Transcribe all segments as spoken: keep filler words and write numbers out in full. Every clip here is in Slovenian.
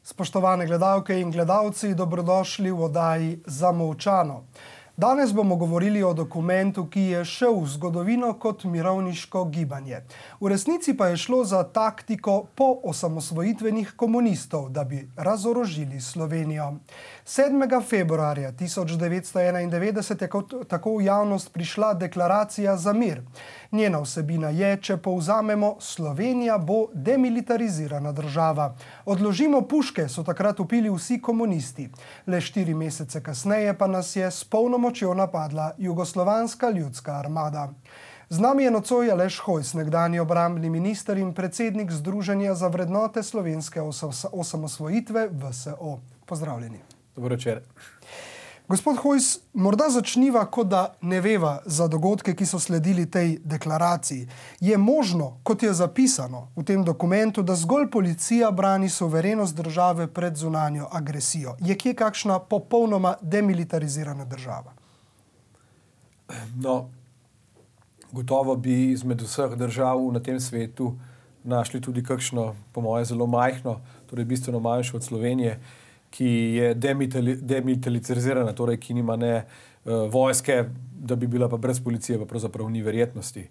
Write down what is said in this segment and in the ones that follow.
Spoštovane gledalke in gledalci, dobrodošli v oddaji Zamolčano. Danes bomo govorili o dokumentu, ki je šel v zgodovino kot mirovniško gibanje. V resnici pa je šlo za taktiko po osamosvojitvenih komunistov, da bi razorožili Slovenijo. sedmega februarja tisoč devetsto enaindevetdeset je kot, tako v javnost prišla deklaracija za mir. Njena vsebina je, če povzamemo, Slovenija bo demilitarizirana država. Odložimo puške, so takrat vpili vsi komunisti. Le štiri mesece kasneje pa nas je s polno močjo napadla Jugoslovanska ljudska armada. Z nami je nocoj Aleš Hojs, nekdanji obrambni minister in predsednik Združenja za vrednote slovenske osamosvojitve V S O. Pozdravljeni. Dobro večer. Gospod Hojs, morda začniva, kot da ne veva za dogodke, ki so sledili tej deklaraciji. Je možno, kot je zapisano v tem dokumentu, da zgolj policija brani suverenost države pred zunanjo agresijo? Je kje kakšna popolnoma demilitarizirana država? No, gotovo bi izmed vseh držav na tem svetu našli tudi kakšno, po moje, zelo majhno, torej bistveno manjšo od Slovenije, ki je demilitarizirana, torej ki nima ne uh, vojske, da bi bila pa brez policije, pa pravzaprav ni verjetnosti.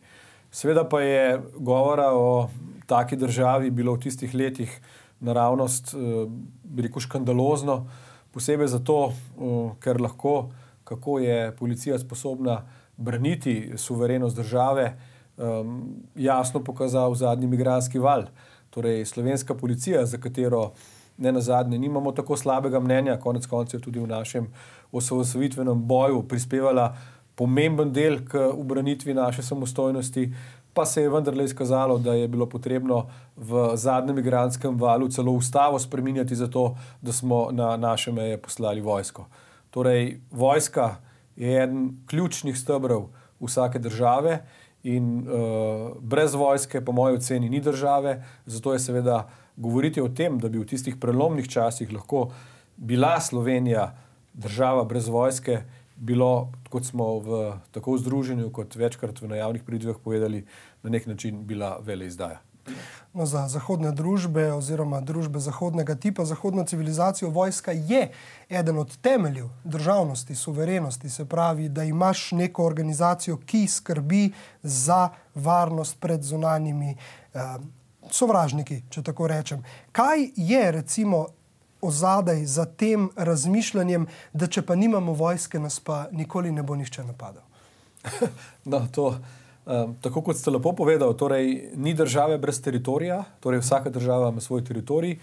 Seveda pa je govora o taki državi bilo v tistih letih naravnost, uh, bi rekel, škandalozno, posebej zato, uh, ker lahko, kako je policija sposobna braniti suverenost države, um, jasno pokazal zadnji migrantski val. Torej, slovenska policija, za katero ne nazadnje nimamo tako slabega mnenja, konec koncev tudi v našem osamosvojitvenem boju prispevala pomemben del k ubranitvi naše samostojnosti, pa se je vendarle izkazalo, da je bilo potrebno v zadnjem migrantskem valu celo ustavo spreminjati zato, da smo na naše meje poslali vojsko. Torej, vojska je eden ključnih stebrov vsake države in uh, brez vojske, po moji oceni, ni države, zato je seveda govoriti o tem, da bi v tistih prelomnih časih lahko bila Slovenija država brez vojske, bilo, kot smo v tako v združenju, kot večkrat v javnih pridivah povedali, na nek način bila veleizdaja. No, za zahodne družbe oziroma družbe zahodnega tipa, zahodno civilizacijo, vojska je eden od temeljev državnosti, suverenosti, se pravi, da imaš neko organizacijo, ki skrbi za varnost pred zunanjimi eh, sovražniki, če tako rečem. Kaj je recimo ozadaj za tem razmišljanjem, da če pa nimamo vojske, nas pa nikoli ne bo nihče napadal? No, to, um, tako kot ste lepo povedal, torej ni države brez teritorija, torej vsaka država ima svoj teritorij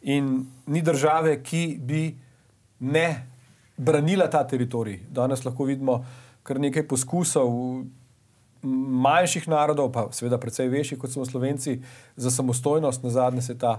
in ni države, ki bi ne branila ta teritorij. Danes lahko vidimo kar nekaj poskusov manjših narodov, pa seveda precej večjih, kot smo Slovenci, za samostojnost. Nazadnje se ta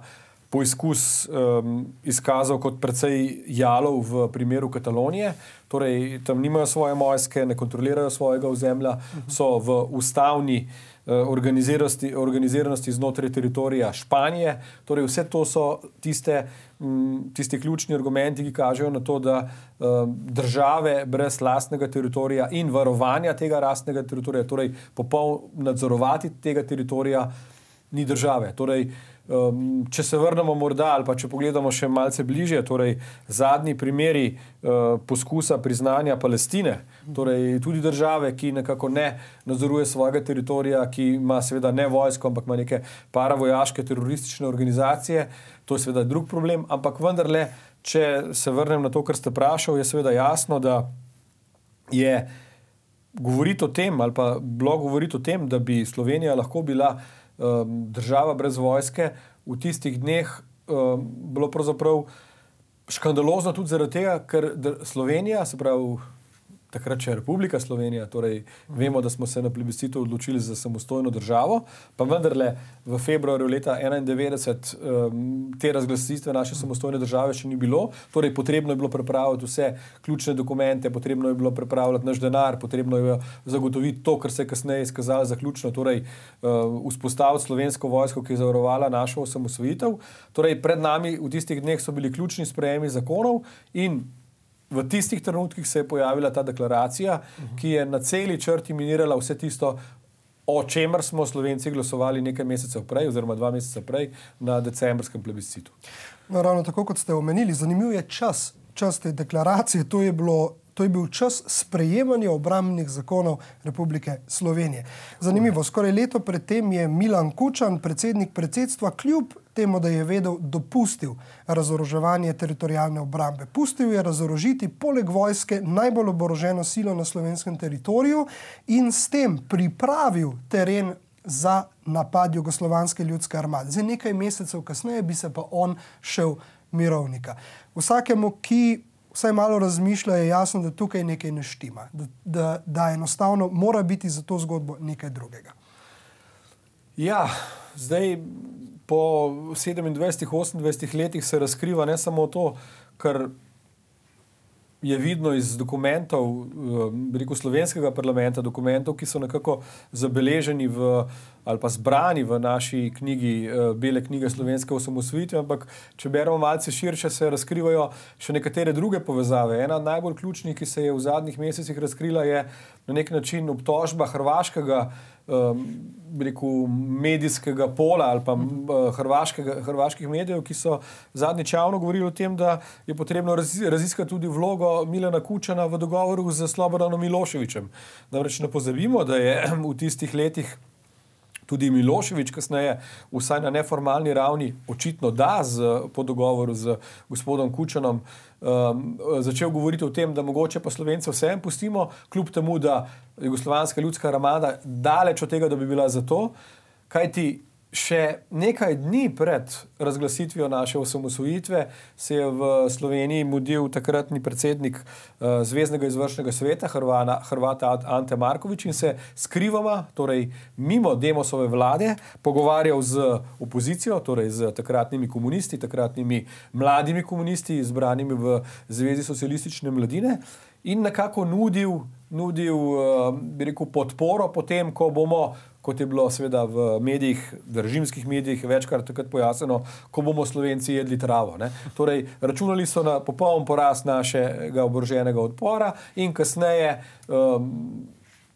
poizkus um, izkazal kot precej jalov v primeru Katalonije. Torej, tam nimajo svoje vojske, ne kontrolirajo svojega ozemlja, so v ustavni uh, organiziranosti, organiziranosti znotraj teritorija Španije. Torej, vse to so tiste, um, tiste ključni argumenti, ki kažejo na to, da um, države brez lastnega teritorija in varovanja tega lastnega teritorija, torej popoln nadzorovati tega teritorija, ni države. Torej, Um, če se vrnemo morda ali pa če pogledamo še malce bližje, torej zadnji primeri uh, poskusa priznanja Palestine, torej tudi države, ki nekako ne nadzoruje svojega teritorija, ki ima seveda ne vojsko, ampak ima neke paravojaške teroristične organizacije, to je seveda drug problem, ampak vendarle, če se vrnem na to, kar ste vprašal, je seveda jasno, da je govoriti o tem ali pa bilo govoriti o tem, da bi Slovenija lahko bila država brez vojske, v tistih dneh um, bilo pravzaprav škandalozno tudi zaradi tega, ker Slovenija, se pravi takrat še Republika Slovenija, torej vemo, da smo se na plebiscitu odločili za samostojno državo, pa vendarle v februarju leta enaindevetdeset um, te razglasitve naše samostojne države še ni bilo, torej potrebno je bilo pripraviti vse ključne dokumente, potrebno je bilo pripravljati naš denar, potrebno je zagotoviti to, kar se je kasneje izkazalo za ključno, torej uh, vzpostaviti slovensko vojsko, ki je zavarovala našo osamosvojitev. Torej pred nami v tistih dneh so bili ključni sprejemi zakonov in v tistih trenutkih se je pojavila ta deklaracija, ki je na celi črti minirala vse tisto, o čemer smo Slovenci glasovali nekaj mesecev prej, oziroma dva meseca prej na decembrskem plebiscitu. No, ravno tako, kot ste omenili, zanimiv je čas, čas te deklaracije, to je bilo To je bil čas sprejemanja obrambnih zakonov Republike Slovenije. Zanimivo, skoraj leto predtem je Milan Kučan, predsednik predsedstva, kljub temu, da je vedel, dopustil razoroževanje teritorijalne obrambe. Pustil je razorožiti poleg vojske najbolj oboroženo silo na slovenskem teritoriju in s tem pripravil teren za napad Jugoslovanske ljudske armade. Zdaj nekaj mesecev kasneje bi se pa on šel mirovnika. Vsakemu, ki vsaj malo razmišlja, je jasno, da tukaj nekaj ne štima, da, da, da enostavno mora biti za to zgodbo nekaj drugega. Ja, zdaj po sedemindvajsetih, osemindvajsetih letih se razkriva ne samo to, kar je vidno iz dokumentov, rekel slovenskega parlamenta, dokumentov, ki so nekako zabeleženi v, ali pa zbrani v naši knjigi, Bele knjige slovenske osamosvojitve, ampak če beremo malce širše, se razkrivajo še nekatere druge povezave. Ena od najbolj ključnih, ki se je v zadnjih mesecih razkrila, je na nek način obtožba hrvaškega Um, rekel, medijskega pola ali pa hrvaškega, hrvaških medijev, ki so zadnjič javno govorili o tem, da je potrebno raziskati tudi vlogo Milana Kučana v dogovoru z Slobodanom Miloševićem. Namreč ne pozabimo, da je v tistih letih tudi Milošević kasneje, vsaj na neformalni ravni, očitno da z, po dogovoru z gospodom Kučanom, um, začel govoriti o tem, da mogoče pa Slovence vsem pustimo, kljub temu, da Jugoslovanska ljudska armada daleč od tega, da bi bila za to, kajti še nekaj dni pred razglasitvijo naše osamosvojitve se je v Sloveniji mudil takratni predsednik uh, Zveznega izvršnega sveta, Hrvana, Hrvata Ante Marković, in se skrivoma, torej mimo Demosove vlade, pogovarjal z opozicijo, torej z takratnimi komunisti, takratnimi mladimi komunisti, izbranimi v Zvezi socialistične mladine, in nekako nudil, nudil uh, bi rekel, podporo potem, ko bomo, kot je bilo seveda v medijih, državskih medijih, večkrat takrat pojasnjeno, ko bomo Slovenci jedli travo. Ne? Torej, računali so na popoln porast našega oboroženega odpora in kasneje um,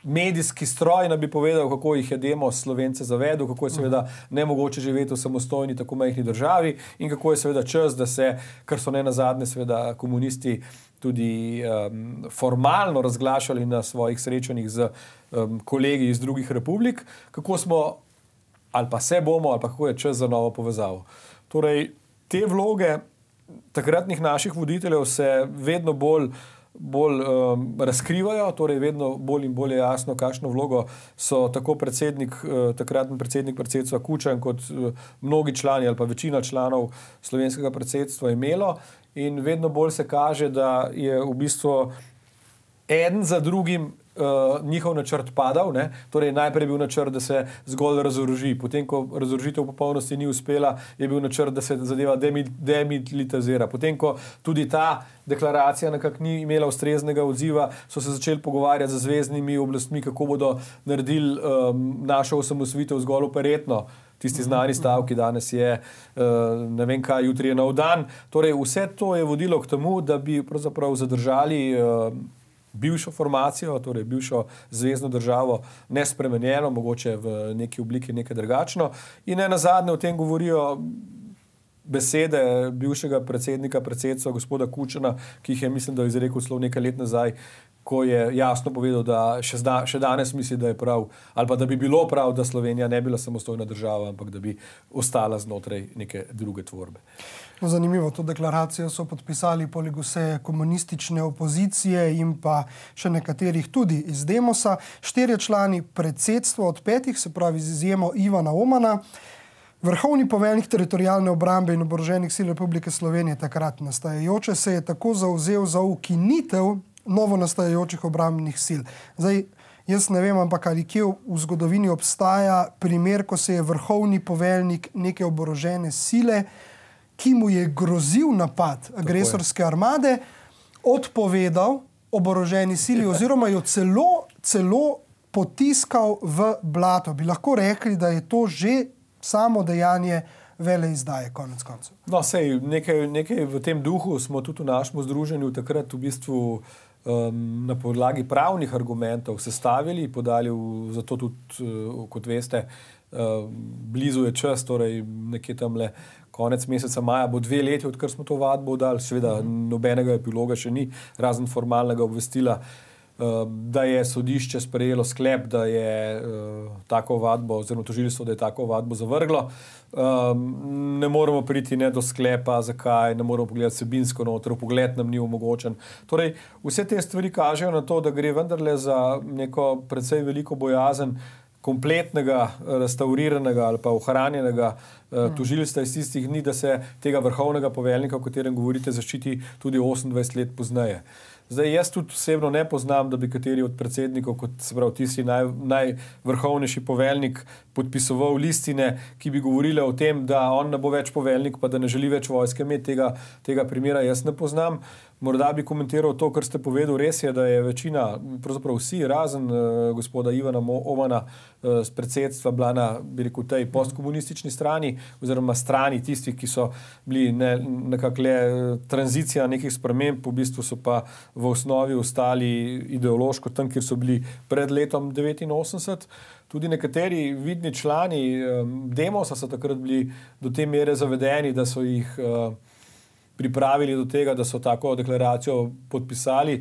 medijski stroj nam bi povedal, kako jih je Demos Slovence zavedel, kako je seveda nemogoče živeti v samostojni, tako majhni državi in kako je seveda čas, da se, kar so ne nazadnje seveda komunisti tudi um, formalno razglašali na svojih srečanjih z um, kolegi iz drugih republik, kako smo, ali pa se bomo, ali pa kako je čas za novo povezavo. Torej, te vloge takratnih naših voditeljev se vedno bolj bolj um, razkrivajo, torej vedno bolj in bolj je jasno, kakšno vlogo so tako predsednik, uh, takratni predsednik predsedstva Kučan kot uh, mnogi člani ali pa večina članov slovenskega predsedstva imelo, in vedno bolj se kaže, da je v bistvu eden za drugim Uh, njihov načrt padal, ne? Torej najprej je bil načrt, da se zgolj razoroži, potem, ko razorožitev v popolnosti ni uspela, je bil načrt, da se zadeva demilitarizira. Potem, ko tudi ta deklaracija nekako ni imela ustreznega odziva, so se začeli pogovarjati z zveznimi oblastmi, kako bodo naredili um, našo osamosvojitev zgolj operetno. Tisti znani stavki, danes je uh, ne vem kaj, jutri je nov dan. Torej vse to je vodilo k temu, da bi pravzaprav zadržali uh, bivšo formacijo, torej bivšo zvezno državo, nespremenjeno, mogoče v neki obliki nekaj drugačno. In ne nazadnje o tem govorijo besede bivšega predsednika predsedstva gospoda Kučana, ki jih je, mislim, da je izrekel celo nekaj let nazaj, ko je jasno povedal, da še, zda, še danes misli, da je prav, ali pa da bi bilo prav, da Slovenija ne bila samostojna država, ampak da bi ostala znotraj neke druge tvorbe. No, zanimivo, to deklaracijo so podpisali poleg vse komunistične opozicije in pa še nekaterih tudi iz Demosa. Štirje člani predsedstva od petih, se pravi z izjemo Ivana Omana, vrhovni poveljnik teritorijalne obrambe in oboroženih sil Republike Slovenije takrat nastajajoče, se je tako zavzel za ukinitev novo nastajajočih obrambnih sil. Zdaj, jaz ne vem, ampak ali kje v zgodovini obstaja primer, ko se je vrhovni poveljnik neke oborožene sile, ki mu je grozil napad agresorske armade, odpovedal oboroženi sili oziroma jo celo, celo potiskal v blato. Bi lahko rekli, da je to že samo dejanje veleizdaje, konec koncev. No, sej, nekaj, nekaj v tem duhu smo tudi v našem združenju takrat v bistvu um, na podlagi pravnih argumentov sestavili, podali v, zato tudi, uh, kot veste, uh, blizu je čas, torej nekje tamle konec meseca maja bo dve leti, odkar smo to vadbo dali, seveda nobenega epiloga še ni, razen formalnega obvestila, uh, da je sodišče sprejelo sklep, da je uh, tako vadbo, oziroma tožilstvo, da je tako vadbo zavrglo. Um, ne moremo priti ne do sklepa, zakaj, ne moremo pogledati vsebinsko noter, pogled nam ni omogočen. Torej, vse te stvari kažejo na to, da gre vendarle za neko precej veliko bojazen kompletnega, restauriranega ali pa ohranjenega uh, tožilstva iz tistih dni, da se tega vrhovnega poveljnika, o katerem govorite, zaščiti tudi osemindvajset let pozneje. Zdaj, jaz tudi osebno ne poznam, da bi kateri od predsednikov, kot se pravi tisti naj, najvrhovnejši poveljnik, podpisoval listine, ki bi govorile o tem, da on ne bo več poveljnik, pa da ne želi več vojske imeti. Tega, tega primera jaz ne poznam. Morda bi komentiral to, kar ste povedali. Res je, da je večina, pravzaprav vsi, razen uh, gospoda Ivana Omana uh, z predsedstva bila na, bi rekel, tej postkomunistični strani, oziroma strani tistih, ki so bili ne, nekako le tranzicija nekih sprememb, v bistvu so pa v osnovi ostali ideološko tam, kjer so bili pred letom devetinosemdeset. Tudi nekateri vidni člani um, Demosa so takrat bili do te mere zavedeni, da so jih uh, pripravili do tega, da so tako deklaracijo podpisali.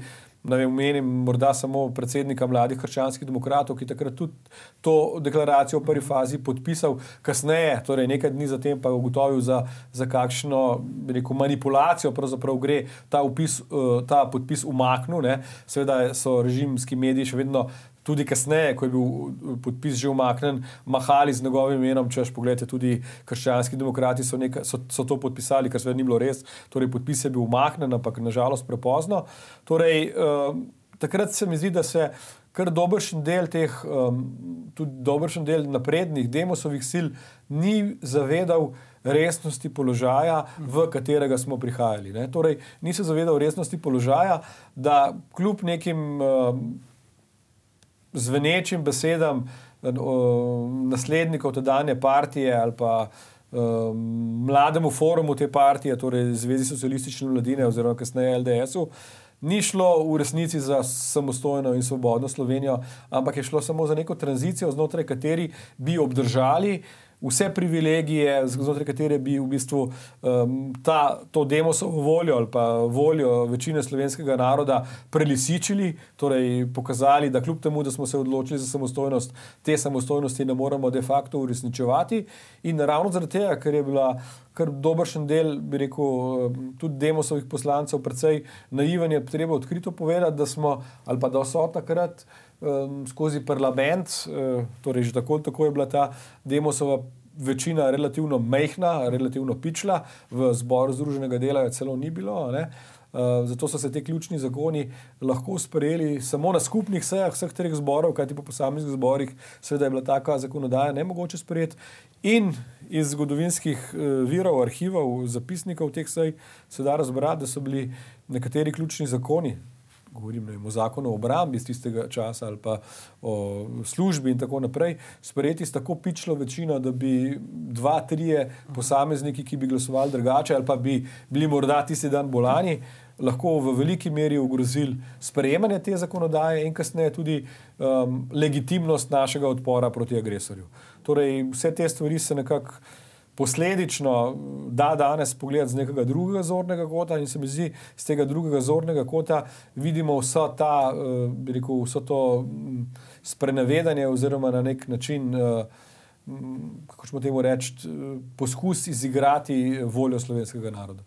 Ne vem, menim morda samo predsednika Mladih krščanskih demokratov, ki takrat tudi to deklaracijo v prvi fazi podpisal, kasneje, torej nekaj dni zatem pa ugotovil za, za kakšno, bi rekel, manipulacijo pravzaprav gre ta, upis, ta podpis umaknil, ne. Seveda so režimski mediji še vedno tudi kasneje, ko je bil podpis že umaknen, mahali z njegovim imenom, češ, pogledajte, tudi krščanski demokrati so, neka, so, so to podpisali, kar seveda ni bilo res, torej podpis je bil umaknen, ampak nažalost prepozno. Torej, um, takrat se mi zdi, da se kar dobršen del teh, um, tudi dobršen del naprednih Demosovih sil ni zavedal resnosti položaja, v katerega smo prihajali. Ne? Torej, ni se zavedal resnosti položaja, da kljub nekim um, zvenečim besedam naslednikov tedanje partije ali pa um, mlademu forumu te partije, torej Zvezi socialistične mladine oziroma kasneje L D S-u, ni šlo v resnici za samostojno in svobodno Slovenijo, ampak je šlo samo za neko tranzicijo, znotraj kateri bi obdržali vse privilegije, znotraj katere bi v bistvu um, ta, to Demosovo voljo ali pa voljo večine slovenskega naroda prelisičili, torej pokazali, da kljub temu, da smo se odločili za samostojnost, te samostojnosti ne moremo de facto uresničevati. In ravno zaradi tega, ker je bila kar dobršen del, bi rekel, tudi Demosovih poslancev precej naiven, je treba odkrito povedati, da smo, ali pa da so takrat um, skozi parlament, uh, torej že tako, tako je bila ta Demosova večina relativno mejhna, relativno pičla, v zboru Združenega dela je celo ni bilo, ne? Uh, zato so se te ključni zakoni lahko sprejeli samo na skupnih sejah vseh treh zborov, kajti po posameznih zborih seveda je bila taka zakonodaja nemogoče sprejeti. In iz zgodovinskih uh, virov, arhivov, zapisnikov teh sej se da razbrati, da so bili nekateri ključni zakoni, govorim ne vem, o zakonu o obrambi iz tistega časa ali pa o službi in tako naprej, sprejeti s tako pičlo večino, da bi dva, trije posamezniki, ki bi glasovali drugače ali pa bi bili morda tisti dan bolani, lahko v veliki meri ogrozili sprejemanje te zakonodaje in kasneje tudi um, legitimnost našega odpora proti agresorju. Torej, vse te stvari se nekako posledično da danes pogledati z nekega drugega zornega kota in se mi zdi, z tega drugega zornega kota vidimo vso ta, bi rekel, vso to sprenevedanje oziroma na nek način, kako ćemo temu reči, poskus izigrati voljo slovenskega naroda.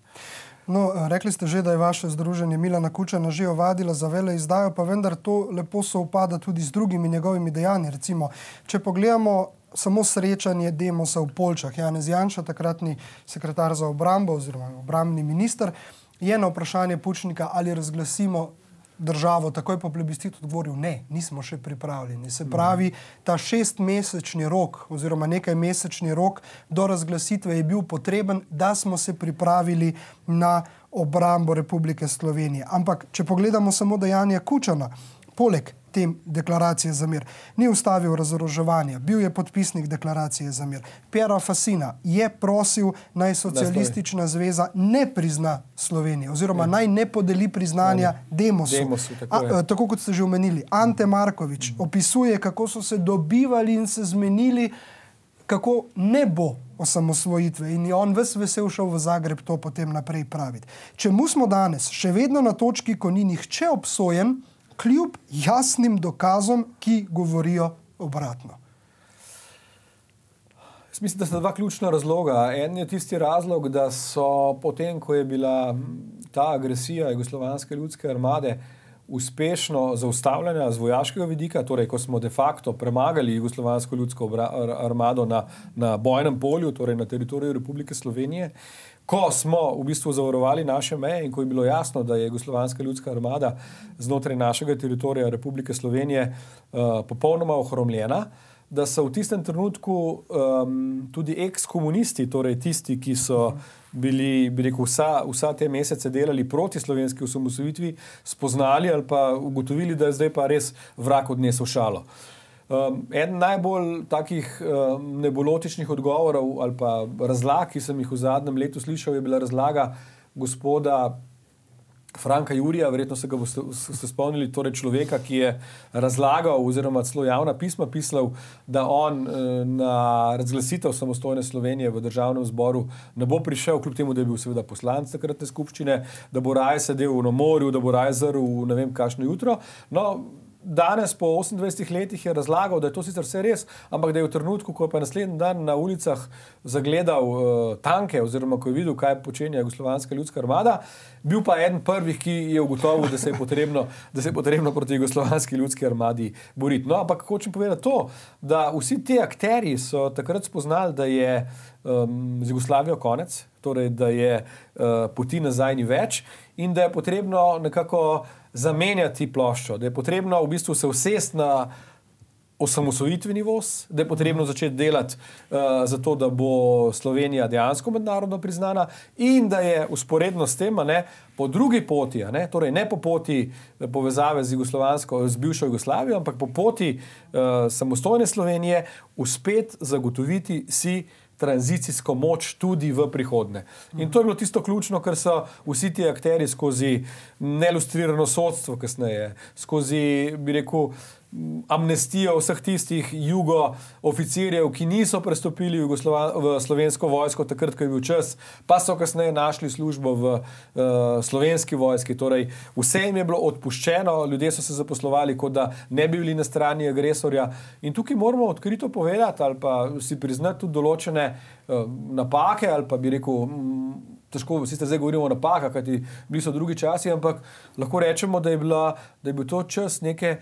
No, rekli ste že, da je vaše združenje Milana Kučana že ovadilo za veleizdajo, pa vendar to lepo sovpada tudi z drugimi njegovimi dejanji. Recimo, če pogledamo samo srečanje Demosa v Poljčah. Janez Janša, takratni sekretar za obrambo oziroma obrambni minister, je na vprašanje Pučnika, ali razglasimo državo takoj po plebiscitu, odgovoril ne, nismo še pripravljeni. Se pravi, ta šestmesečni rok oziroma nekaj mesečni rok do razglasitve je bil potreben, da smo se pripravili na obrambo Republike Slovenije. Ampak, če pogledamo samo dejanja Kučana, poleg te deklaracije za mir. Ni ustavil razoroževanja, bil je podpisnik deklaracije za mir. Piero Fassina je prosil, naj Socialistična zveza ne prizna Slovenije oziroma naj ne podeli priznanja Demosu. Demosu, tako, A, tako kot ste že omenili. Ante Marković mm. opisuje, kako so se dobivali in se zmenili, kako ne bo osamosvojitve in je on ves vesel šel v Zagreb to potem naprej praviti. Čemu smo danes še vedno na točki, ko ni nihče obsojen, kljub jasnim dokazom, ki govorijo obratno? Jaz mislim, da sta dva ključna razloga. En je tisti razlog, da so potem, ko je bila ta agresija Jugoslovanske ljudske armade uspešno zaustavljena z vojaškega vidika, torej ko smo de facto premagali Jugoslovansko ljudsko armado na, na bojnem polju, torej na teritoriju Republike Slovenije, ko smo v bistvu zavarovali naše meje in ko je bilo jasno, da je Jugoslovanska ljudska armada znotraj našega teritorija Republike Slovenije uh, popolnoma ohromljena, da so v tistem trenutku um, tudi eks-komunisti, torej tisti, ki so bili, bi rekel, vsa, vsa te mesece delali proti slovenski osamosvojitvi, spoznali ali pa ugotovili, da je zdaj pa res vrag odnesel šalo. Um, eden najbolj takih um, nebulotičnih odgovorov ali pa razlag, ki sem jih v zadnjem letu slišal, je bila razlaga gospoda Franka Jurija, verjetno se ga boste se spomnili, torej človeka, ki je razlagal oziroma celo javna pisma pisal, da on na razglasitev samostojne Slovenije v državnem zboru ne bo prišel, kljub temu, da je bil seveda poslanec takratne skupščine, da bo raje sedel na morju, da bo raje zrl v ne vem kakšno jutro. No, danes po osemindvajsetih letih je razlagal, da je to sicer vse res, ampak da je v trenutku, ko je pa naslednji dan na ulicah zagledal uh, tanke oziroma ko je videl, kaj počenja Jugoslovanska ljudska armada, bil pa eden prvih, ki je ugotovil, da se je potrebno, da se je potrebno proti Jugoslovanski ljudski armadi boriti. No, ampak hočem povedati to, da vsi ti akterji so takrat spoznali, da je um, z Jugoslavijo konec, torej da je uh, poti nazaj ni več in da je potrebno nekako zamenjati ploščo, da je potrebno v bistvu se usesti na osamosvojitveni voz, da je potrebno začeti delati uh, za to, da bo Slovenija dejansko mednarodno priznana in da je usporedno s tem, ne, po drugi poti, ne, torej ne po poti povezave z Jugoslovansko, z bivšo Jugoslavijo, ampak po poti uh, samostojne Slovenije uspet zagotoviti si tranzicijsko moč tudi v prihodnje. In to je bilo tisto ključno, ker so vsi ti akteri skozi nelustrirano sodstvo kasneje, skozi, bi rekel, amnestijo vseh tistih jugo oficirjev, ki niso prestopili v, v slovensko vojsko takrat, ko je bil čas, pa so kasneje našli službo v uh, slovenski vojski. Torej, vse jim je bilo odpuščeno, ljudje so se zaposlovali, kot da ne bi bili na strani agresorja. In tukaj moramo odkrito povedati ali pa si priznati tudi določene uh, napake ali pa bi rekel, m, težko, sicer zdaj govorimo o napakah, kajti bili so drugi časi, ampak lahko rečemo, da je, bila, da je bil to čas neke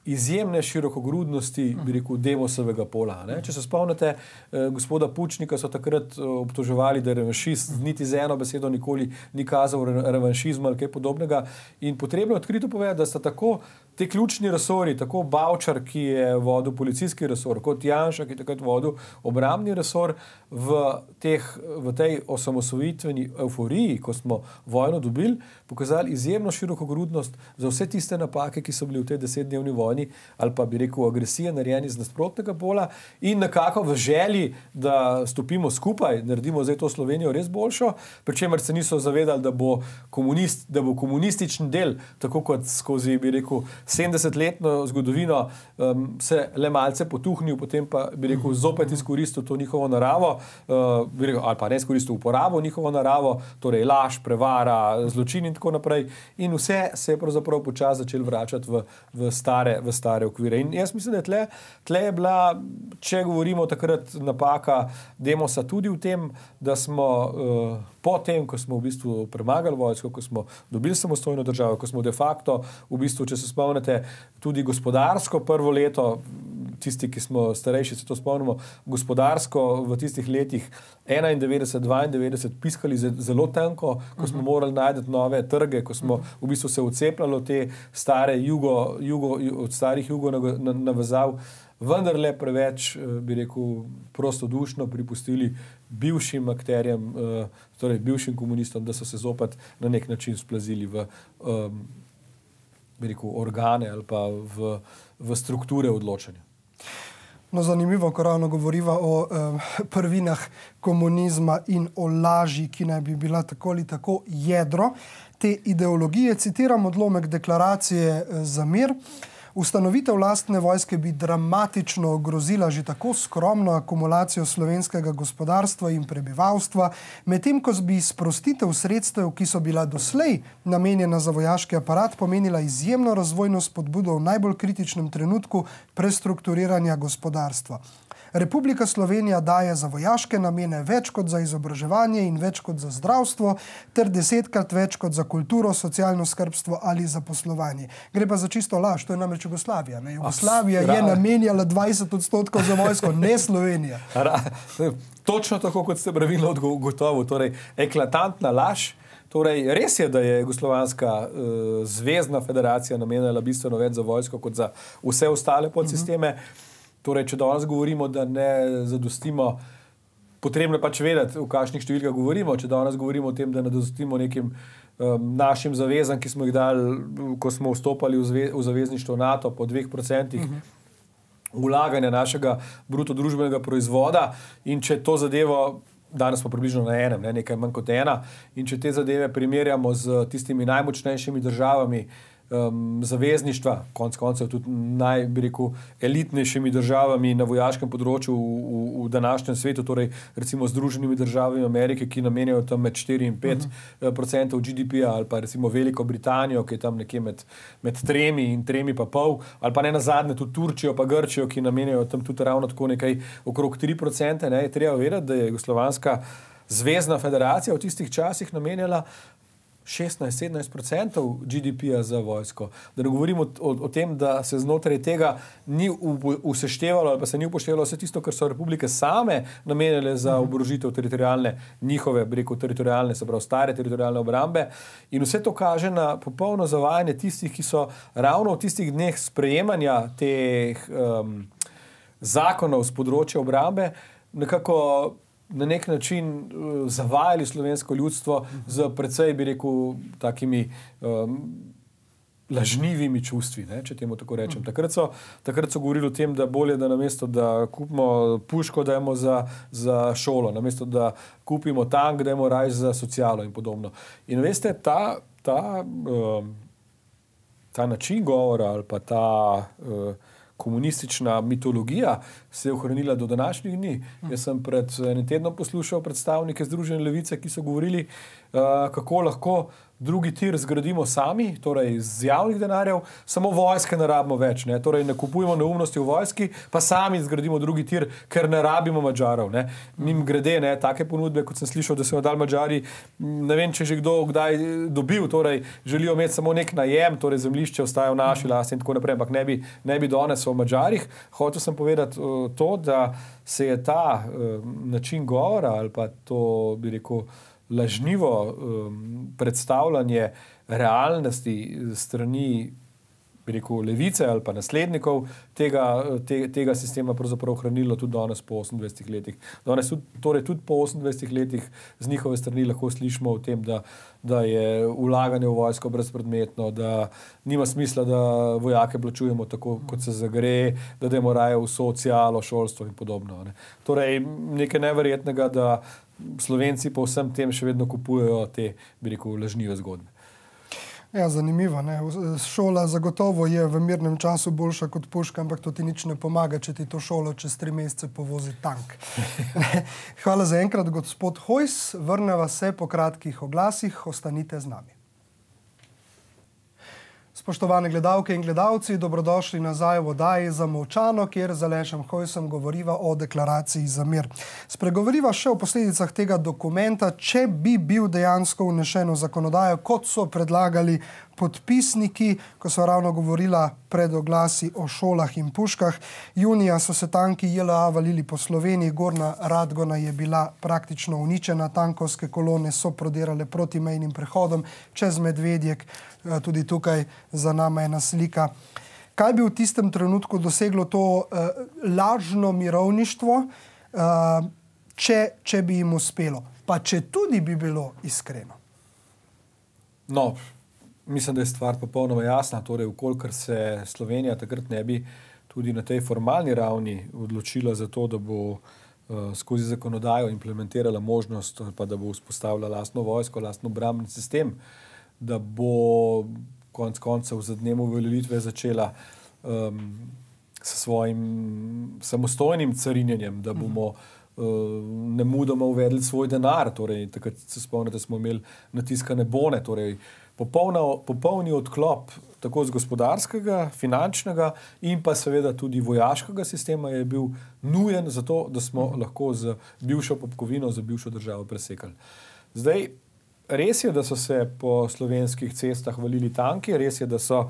izjemne širokogrudnosti, bi rekel, Demosovega pola. Ne? Če se spomnite, eh, gospoda Pučnika so takrat eh, obtoževali, da je revanšist, niti z eno besedo nikoli ni kazal re, revanšizma ali kaj podobnega. In potrebno je odkrito povedati, da sta tako te ključni resori, tako Bavčar, ki je vodil policijski resor, kot Janša, ki je takrat vodil obrambni resor, v, teh, v tej osamosvojitveni euforiji, ko smo vojno dobili, pokazali izjemno širokogrudnost za vse tiste napake, ki so bili v tej desetdnevni vojni ali pa bi rekel agresije narejeni z nasprotnega pola in nekako v želji, da stopimo skupaj, naredimo zdaj to Slovenijo res boljšo, pri čemer se niso zavedali, da bo, komunist, da bo komunistični del, tako kot skozi, bi rekel, sedemdesetletno zgodovino um, se le malce potuhnil, potem pa bi rekel, zopet izkoristil to njihovo naravo, uh, bi rekel, ali pa ne izkoristil uporabo njihovo naravo, torej laž, prevara, zločin in tako naprej. In vse se je pravzaprav počasi začel vračati v, v stare v stare okvire. In jaz mislim, da je tle, tle je bila, če govorimo takrat napaka Demosa tudi v tem, da smo uh, po tem, ko smo v bistvu premagali vojsko, ko smo dobili samostojno državo, ko smo de facto v bistvu, če se spomnite, tudi gospodarsko prvo leto, tisti, ki smo starejši, se to spomnimo, gospodarsko v tistih letih enaindevetdeset dvaindevetdeset piskali zelo tanko, ko smo morali najti nove trge, ko smo v bistvu se odcepljali te stare jugo, jugo, od starih jugo navezav, vendarle preveč, bi rekel, prostodušno pripustili bivšim akterjem, torej bivšim komunistom, da so se zopet na nek način splazili v um, bi rekel, organe ali pa v, v strukture odločanja. No, zanimivo, ko ravno govoriva o eh, prvinah komunizma in o laži, ki naj bi bila tako ali tako jedro te ideologije. Citiram odlomek deklaracije za mir. Ustanovitev lastne vojske bi dramatično ogrozila že tako skromno akumulacijo slovenskega gospodarstva in prebivalstva, medtem ko bi sprostitev sredstev, ki so bila doslej namenjena za vojaški aparat, pomenila izjemno razvojno spodbudo v najbolj kritičnem trenutku prestrukturiranja gospodarstva. Republika Slovenija daje za vojaške namene več kot za izobraževanje in več kot za zdravstvo, ter desetkrat več kot za kulturo, socialno skrbstvo ali zaposlovanje. Gre pa za čisto laž, to je namreč Jugoslavija. Ne? Jugoslavija je namenjala dvajset odstotkov za vojsko, ne Slovenija. Točno tako, kot ste pravilno odgotovili, torej eklatantna laž. Torej, res je, da je Jugoslovanska uh, zvezna federacija namenjala bistveno več za vojsko kot za vse ostale podsisteme. Uh-huh. Torej, če danes govorimo, da ne zadostimo, potrebno je pač vedeti, v kakšnih številkah govorimo. Če danes govorimo o tem, da ne zadostimo nekim um, našim zavezam, ki smo jih dali, ko smo vstopali v, zve, v zavezništvo NATO po dveh procentih uh-huh. vlaganja našega bruto družbenega proizvoda, in če to zadevo, danes smo približno na enem, ne, nekaj manj kot ena, in če te zadeve primerjamo z tistimi najmočnejšimi državami, Um, zavezništva, konc koncev tudi naj, bi rekel, elitnejšimi državami na vojaškem področju v, v, v današnjem svetu, torej recimo Združenimi državami Amerike, ki namenjajo tam med štiri in pet odstotkov G D P-ja, ali pa recimo Veliko Britanijo, ki je tam nekje med, med tremi in tremi pa pol, ali pa ne nazadnje tudi Turčijo pa Grčijo, ki namenjajo tam tudi ravno tako nekaj okrog tri odstotke. Ne, je treba vedeti, da je Jugoslovanska zvezna federacija v tistih časih namenjala šestnajst do sedemnajst odstotkov G D P-ja za vojsko. Da ne govorimo o, o tem, da se znotraj tega ni useštevalo ali pa se ni upoštevalo vse tisto, kar so republike same namenjale za oborožitev teritorijalne, njihove, bi rekel, teritorijalne, se pravi stare teritorijalne obrambe. In vse to kaže na popolno zavajanje tistih, ki so ravno v tistih dneh sprejemanja teh um, zakonov z področja obrambe nekako na nek način uh, zavajali slovensko ljudstvo z precej, bi rekel, takimi um, lažnivimi čustvi, ne, če temu tako rečem. Takrat so, takrat so govorili o tem, da bolje, da namesto, da kupimo puško, dajemo za, za šolo, namesto, da kupimo tank, dajemo raj za socialo in podobno. In veste, ta, ta, um, ta način govora ali pa ta uh, komunistična mitologija se je ohranila do današnjih dni. Jaz sem pred enim tednom poslušal predstavnike Združene levice, ki so govorili, uh, kako lahko drugi tir zgradimo sami, torej z javnih denarjev, samo vojske ne rabimo več. Ne? Torej ne kupujemo neumnosti v vojski, pa sami zgradimo drugi tir, ker ne rabimo Madžarov. Ne? Mim grede, ne, take ponudbe, kot sem slišal, da so jo dali Madžari, ne vem, če že kdo kdaj dobil, torej želijo imeti samo nek najem, torej zemljišče ostaja v naši lasti in tako naprej, ampak ne bi, ne bi danes o Madžarih. Hotel sem povedati uh, to, da se je ta uh, način govora ali pa to, bi rekel, lažnivo um, predstavljanje realnosti strani, bi rekel, levice ali pa naslednikov tega, te, tega sistema pravzaprav ohranilo tudi danes po osemindvajsetih letih. Danes tudi, torej tudi po osemindvajsetih letih z njihove strani lahko slišimo o tem, da, da je vlaganje v vojsko brezpredmetno, da nima smisla, da vojake plačujemo tako, kot se zagre, da dajmo raje v socialo, šolstvo in podobno. Ne. Torej, nekaj neverjetnega, da Slovenci po vsem tem še vedno kupujejo te, bi rekel, lažnive zgodbe. Ja, zanimivo. Ne? Šola zagotovo je v mirnem času boljša kot puška, ampak to ti nič ne pomaga, če ti to šolo čez tri mesece povozi tank. Hvala za enkrat, gospod Hojs. Vrneva se po kratkih oglasih. Ostanite z nami. Spoštovane gledalke in gledalci, dobrodošli nazaj v oddaji Zamolčano, kjer z Alešem Hojsom govoriva o deklaraciji za mir. Spregovoriva še o posledicah tega dokumenta, če bi bil dejansko vnešen v zakonodajo, kot so predlagali podpisniki, ko so ravno govorila pred oglasi o šolah in puškah. Junija so se tanki J L A valili po Sloveniji, Gornja Radgona je bila praktično uničena, tankovske kolone so prodirale proti mejnim prehodom čez Medvedjek, tudi tukaj za nama je ena slika. Kaj bi v tistem trenutku doseglo to uh, lažno mirovništvo, uh, če, če bi jim uspelo? Pa če tudi bi bilo iskreno? No, mislim, da je stvar popolnoma jasna. Torej, ukolikor se Slovenija takrat ne bi tudi na tej formalni ravni odločila za to, da bo uh, skozi zakonodajo implementirala možnost, pa da bo vzpostavila lastno vojsko, lastno obrambni sistem, da bo konec koncev za dnem uveljavitve začela um, s svojim samostojnim carinjenjem, da bomo uh, nemudoma uvedli svoj denar. Torej, takrat se spomnite, smo imeli natiskane bone, torej popolna, popolni odklop tako z gospodarskega, finančnega in pa seveda tudi vojaškega sistema je bil nujen za to, da smo lahko z bivšo popkovino, za bivšo državo presekali. Zdaj, res je, da so se po slovenskih cestah valili tanki, res je, da so,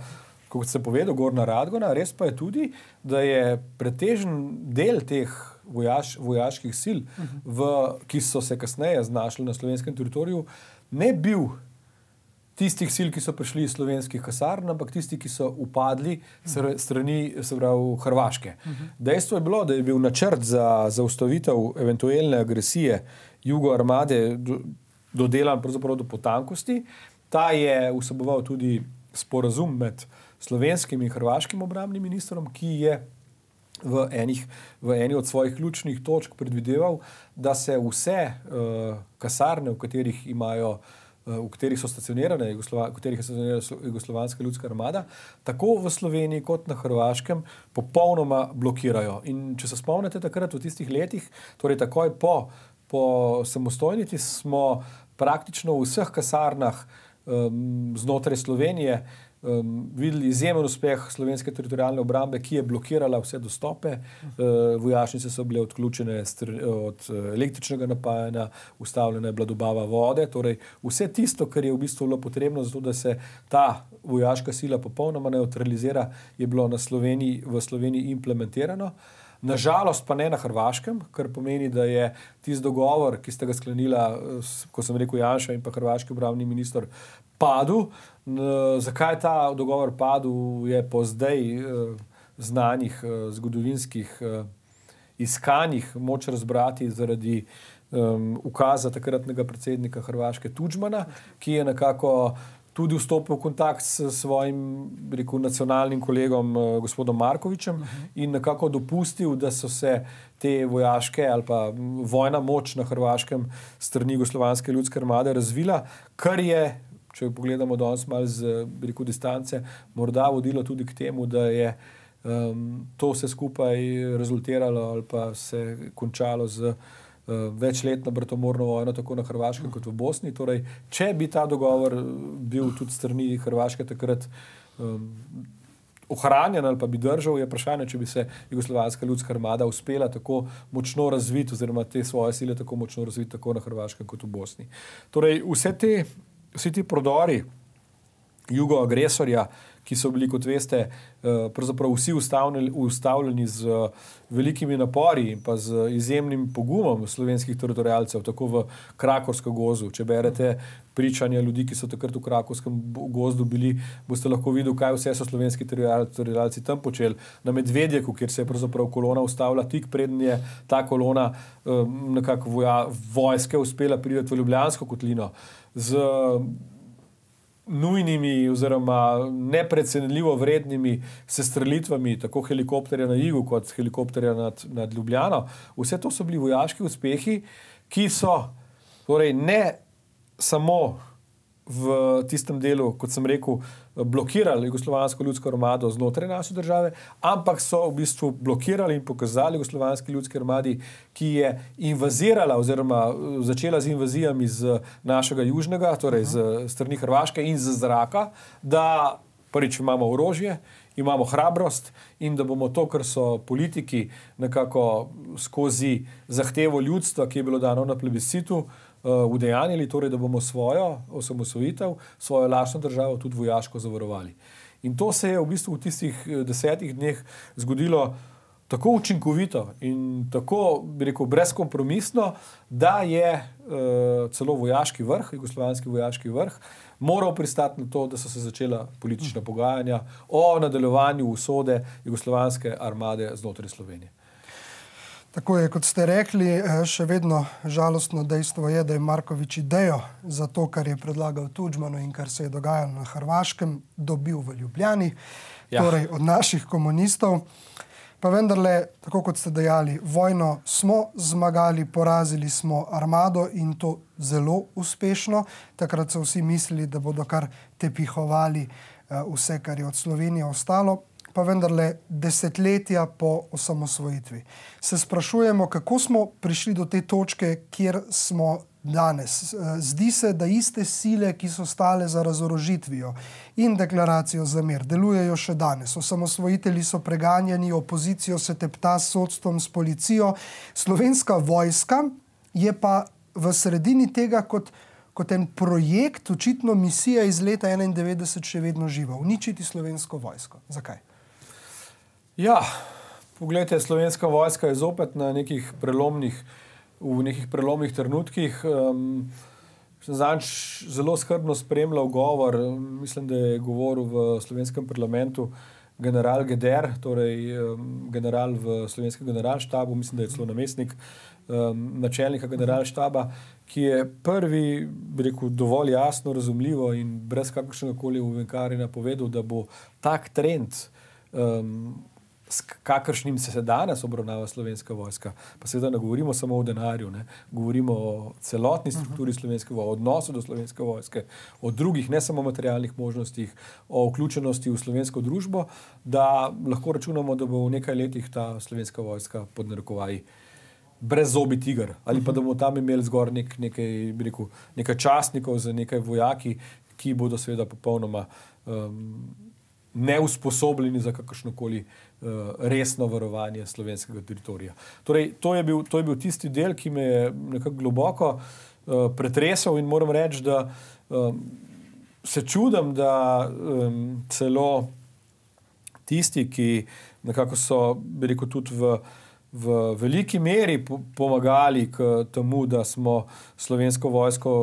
kot se povedal, Gornja Radgona, res pa je tudi, da je pretežen del teh vojaš, vojaških sil, v, ki so se kasneje znašli na slovenskem teritoriju, ne bil tistih sil, ki so prišli iz slovenskih kasarn, ampak tisti, ki so upadli strani, se pravi, Hrvaške. Dejstvo je bilo, da je bil načrt za zaustavitev eventualne agresije jugoarmade dodelan pravzaprav do potankosti. Ta je vseboval tudi sporazum med slovenskim in hrvaškim obrambnim ministrom, ki je v, enih, v eni od svojih ključnih točk predvideval, da se vse uh, kasarne, v katerih imajo v katerih so stacionirane, v katerih je stacionirana Jugoslovanska ljudska armada, tako v Sloveniji kot na Hrvaškem popolnoma blokirajo. In če se spomnite takrat v tistih letih, torej takoj po, po samostojnosti, smo praktično v vseh kasarnah um, znotraj Slovenije um, videli izjemen uspeh slovenske teritorialne obrambe, ki je blokirala vse dostope. Uh, vojašnice so bile odključene od električnega napajanja, ustavljena je bila dobava vode, torej vse tisto, kar je v bistvu bilo potrebno za to, da se ta vojaška sila popolnoma neutralizira, je bilo na Sloveniji, v Sloveniji implementirano. Nažalost pa ne na Hrvaškem, kar pomeni, da je tisti dogovor, ki sta ga sklenila, ko sem rekel Janša in pa hrvaški obrambni minister, padel. Zakaj ta dogovor padel, je po zdaj znanih zgodovinskih iskanjih moč razbrati zaradi um, ukaza takratnega predsednika Hrvaške Tudžmana, ki je nekako tudi vstopil v kontakt s svojim, rekel, nacionalnim kolegom gospodom Markovićem in nekako dopustil, da so se te vojaške ali pa vojna moč na Hrvaškem strani Jugoslovanske ljudske armade razvila, kar je, če pogledamo danes malo z, rekel, distance, morda vodilo tudi k temu, da je um, to vse skupaj rezultiralo ali pa se končalo z večletno bratomorno vojno tako na Hrvaškem kot v Bosni. Torej, če bi ta dogovor bil tudi strani Hrvaške takrat um, ohranjen ali pa bi držal, je vprašanje, če bi se Jugoslovanska ljudska armada uspela tako močno razviti oziroma te svoje sile tako močno razviti tako na Hrvaškem kot v Bosni. Torej, vse te, vsi ti prodori jugoagresorja, ki so bili, kot veste, pravzaprav vsi ustavljeni z velikimi napori in pa z izjemnim pogumom slovenskih teritorialcev, tako v Krakovskem gozdu. Če berete pričanja ljudi, ki so takrat v Krakovskem gozdu bili, boste lahko videli, kaj vse so slovenski teritorialci tam počeli. Na Medvedjeku, kjer se je pravzaprav kolona ustavila, tik preden je ta kolona nekako voja, vojske uspela priti v Ljubljansko kotlino, z nujnimi oziroma neprecenljivo vrednimi sestrelitvami, tako helikopterja na Igu kot helikopterja nad, nad Ljubljano. Vse to so bili vojaški uspehi, ki so torej ne samo v tistem delu, kot sem rekel, blokirali Jugoslovansko ljudsko armado znotraj naše države, ampak so v bistvu blokirali in pokazali Jugoslovanski ljudski armadi, ki je invazirala oziroma začela z invazijami z našega južnega, torej z strani Hrvaške in z zraka, da prvič imamo orožje, imamo hrabrost in da bomo to, kar so politiki nekako skozi zahtevo ljudstva, ki je bilo dano na plebiscitu, udejanjili, torej da bomo svojo osamosvojitev, svojo lastno državo tudi vojaško zavarovali. In to se je v bistvu v tistih desetih dneh zgodilo tako učinkovito in tako, bi rekel, brezkompromisno, da je uh, celo vojaški vrh, jugoslovanski vojaški vrh, moral pristati na to, da so se začela politična pogajanja o nadaljevanju usode jugoslovanske armade znotraj Slovenije. Tako je, kot ste rekli, še vedno žalostno dejstvo je, da je Marković idejo za to, kar je predlagal Tudžmanu in kar se je dogajalo na Hrvaškem, dobil v Ljubljani, ja. Torej od naših komunistov. Pa vendarle, tako kot ste dejali, vojno smo zmagali, porazili smo armado in to zelo uspešno. Takrat so vsi mislili, da bodo kar tepihovali vse, kar je od Slovenije ostalo. Pa vendarle desetletja po osamosvojitvi. Se sprašujemo, kako smo prišli do te točke, kjer smo danes. Zdi se, da iste sile, ki so stale za razorožitvijo in deklaracijo za mir, delujejo še danes. Osamosvojitelji so preganjani, opozicijo se tepta s sodstvom, s policijo. Slovenska vojska je pa v sredini tega kot kot en projekt, očitno misija iz leta enaindevetdeset še vedno živa. Uničiti slovensko vojsko. Zakaj? Ja, poglejte, slovenska vojska je zopet na nekih prelomnih, v nekih prelomnih trenutkih. Um, Zanč zelo skrbno spremljal govor, mislim, da je govoril v slovenskem parlamentu general Geder, torej um, general v slovenskem generalštabu, mislim, da je celo namestnik um, načelnika generalštaba, ki je prvi, bi rekel, dovolj jasno, razumljivo in brez kakršnega koli ovenkarjenja povedal, da bo tak trend, um, s kakršnim se danes obravnava slovenska vojska, pa seveda ne govorimo samo o denarju, ne, govorimo o celotni strukturi slovenske vojske, o odnosu do slovenske vojske, o drugih, ne samo materialnih možnostih, o vključenosti v slovensko družbo, da lahko računamo, da bo v nekaj letih ta slovenska vojska pod narekovaji brez zobi tiger, ali pa da bomo tam imeli zgor nek, nekaj, bi rekel, nekaj častnikov za nekaj vojaki, ki bodo seveda popolnoma um, neusposobljeni za kakršnokoli uh, resno varovanje slovenskega teritorija. Torej, to je bil, to je bil tisti del, ki me je nekako globoko uh, pretresel in moram reči, da um, se čudim, da um, celo tisti, ki nekako so, bi rekel, tudi v, v veliki meri pomagali k temu, da smo slovensko vojsko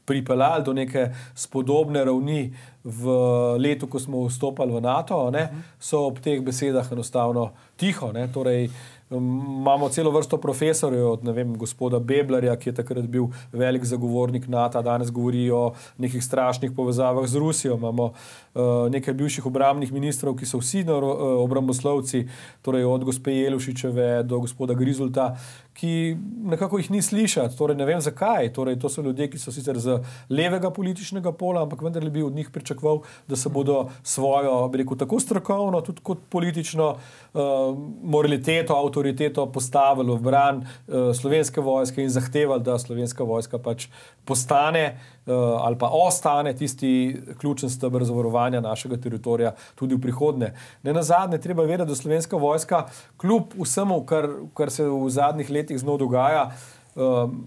pripeljali do neke spodobne ravni v letu, ko smo vstopali v NATO, ne, so ob teh besedah enostavno tiho. Ne, torej, imamo celo vrsto profesorjev, od ne vem, gospoda Beblerja, ki je takrat bil velik zagovornik NATO, danes govori o nekih strašnih povezavah z Rusijo. Imamo uh, nekaj bivših obrambnih ministrov, ki so vsi uh, obramboslovci, torej od gospe Jelušičeve do gospoda Grizulta, ki nekako jih ni slišati. Torej, ne vem zakaj. Torej, to so ljudje, ki so sicer z levega političnega pola, ampak vendar bi od njih pričakoval, da se bodo svojo, bi rekel, tako strokovno, tudi kot politično uh, moraliteto, avtoriteto postavili v bran uh, slovenske vojske in zahtevali, da slovenska vojska pač postane uh, ali pa ostane tisti ključen steber zavarovanja našega teritorija tudi v prihodnje. Ne nazadnje, treba vedeti, da slovenska vojska kljub vsemu, kar, kar se v zadnjih letih z njo dogaja, um,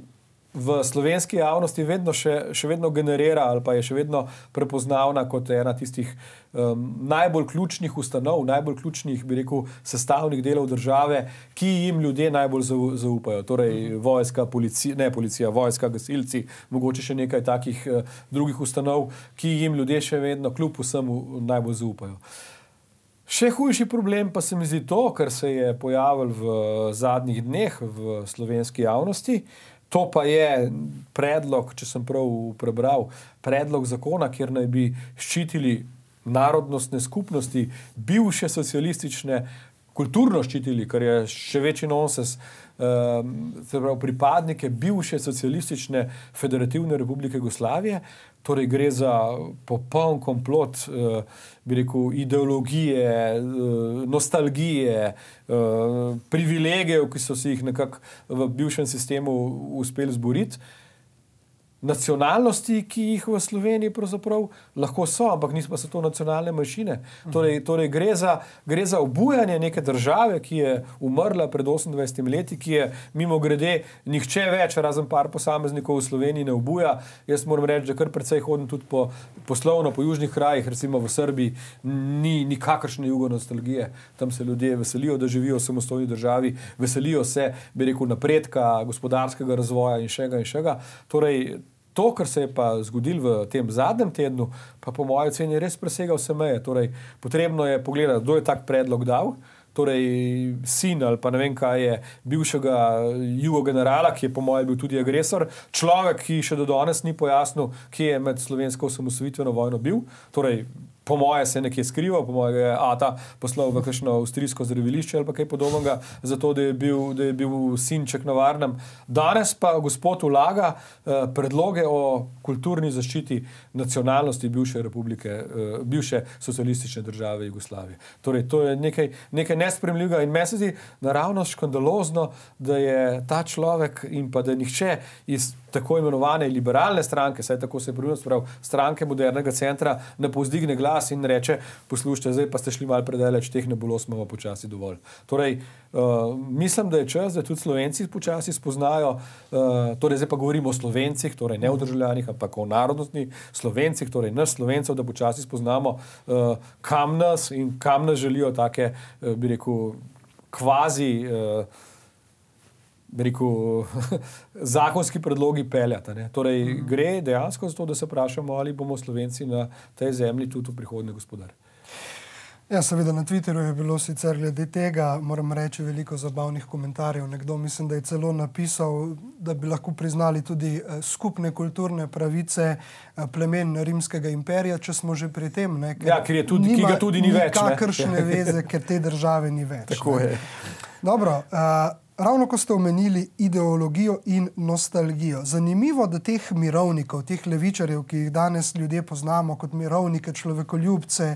v slovenski javnosti vedno še, še vedno generira ali pa je še vedno prepoznavna kot ena tistih um, najbolj ključnih ustanov, najbolj ključnih, bi rekel, sestavnih delov države, ki jim ljudje najbolj zaupajo. Torej vojska, policija, ne policija, vojska, gasilci, mogoče še nekaj takih uh, drugih ustanov, ki jim ljudje še vedno kljub vsemu najbolj zaupajo. Še hujši problem pa se mi zdi to, kar se je pojavil v zadnjih dneh v slovenski javnosti. To pa je predlog, če sem prav prebral, predlog zakona, kjer naj bi ščitili narodnostne skupnosti, bivše socialistične, kulturno ščitili, kar je še večji nonsens, um, se pravi pripadnike bivše socialistične federativne republike Jugoslavije. Torej gre za popoln komplot, uh, bi rekel, ideologije, uh, nostalgije, uh, privilegijev, ki so si jih nekako v bivšem sistemu uspeli zboriti. Nacionalnosti, ki jih v Sloveniji pravzaprav lahko so, ampak niso pa so to nacionalne manjšine. Torej, torej gre za, gre za obujanje neke države, ki je umrla pred osemindvajsetimi leti, ki je mimogrede nihče več, razen par posameznikov v Sloveniji ne obuja. Jaz moram reči, da kar precej hodim tudi po poslovno, po južnih krajih, recimo v Srbiji, ni nikakršne jugonostalgije. Tam se ljudje veselijo, da živijo v samostojni državi, veselijo se, bi rekel, napredka, gospodarskega razvoja in šega in šega. Torej, to, kar se je pa zgodilo v tem zadnjem tednu, pa po moji oceni res presega vse meje. Torej, potrebno je pogledati, kdo je tak predlog dal. torej sin ali pa ne vem kaj je bivšega jugogenerala, ki je po mojem bil tudi agresor, človek, ki še do danes ni pojasnil, kje je med slovensko osamosvojitveno vojno bil, torej po moje se je nekje skrival, po moje je Ata poslal v kakšno avstrijsko zdravilišče ali pa kaj podobnega, zato da je bil, da je bil sinček na varnem. Danes pa gospod vlaga eh, predloge o kulturni zaščiti nacionalnosti bivše republike, eh, bivše socialistične države Jugoslavije. Torej, to je nekaj, nekaj nespremljivega in meni se zdi naravnost škandalozno, da je ta človek in pa da nihče iz tako imenovane liberalne stranke, saj tako se je pravilno sprav, stranke modernega centra, ne povzdigne glas in reče, poslušajte, zdaj pa ste šli malo predaleč, teh nebuloz imamo počasi dovolj. Torej, uh, mislim, da je čas, da tudi Slovenci počasi spoznajo, uh, torej zdaj pa govorimo o Slovencih, torej ne o državljanih, ampak o narodnostni Slovencih, torej nas Slovencev, da počasi spoznamo, uh, kam nas in kam nas želijo take, uh, bi rekel, kvazi uh, rekel, zakonski predlogi peljata. Ne? Torej, mm. gre dejansko za to, da se vprašamo, ali bomo Slovenci na tej zemlji tudi v prihodnje gospodari. Ja, seveda na Twitterju je bilo sicer glede tega, moram reči, veliko zabavnih komentarjev. Nekdo mislim, da je celo napisal, da bi lahko priznali tudi skupne kulturne pravice plemen Rimskega imperija, če smo že pri tem. Ne? Ker ja, ker je tudi, nima, ki ga tudi ni več. Kakršne veze, ker te države ni več. Tako ne? je. Dobro, uh, ravno ko ste omenili ideologijo in nostalgijo. Zanimivo, da teh mirovnikov, teh levičarjev, ki jih danes ljudje poznamo kot mirovnike, človekoljubce,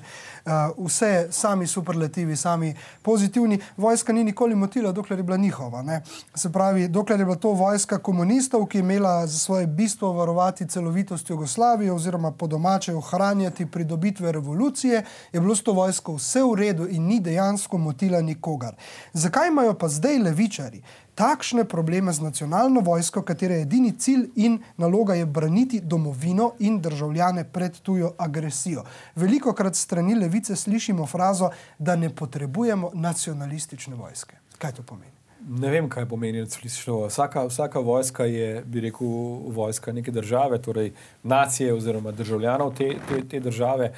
vse sami superlativi, sami pozitivni, vojska ni nikoli motila, dokler je bila njihova. Ne? Se pravi, dokler je bila to vojska komunistov, ki je imela za svoje bistvo varovati celovitost Jugoslavije oziroma po domače ohranjati pridobitve revolucije, je bilo s to vojsko vse v redu in ni dejansko motila nikogar. Zakaj imajo pa zdaj levičarji takšne probleme z nacionalno vojsko, katere edini cilj in naloga je braniti domovino in državljane pred tujo agresijo? Velikokrat strani levice slišimo frazo, da ne potrebujemo nacionalistične vojske. Kaj to pomeni? Ne vem, kaj pomeni nacionalistična vojska. Vsaka, vsaka vojska je, bi rekel, vojska neke države, torej nacije oziroma državljanov te, te, te države.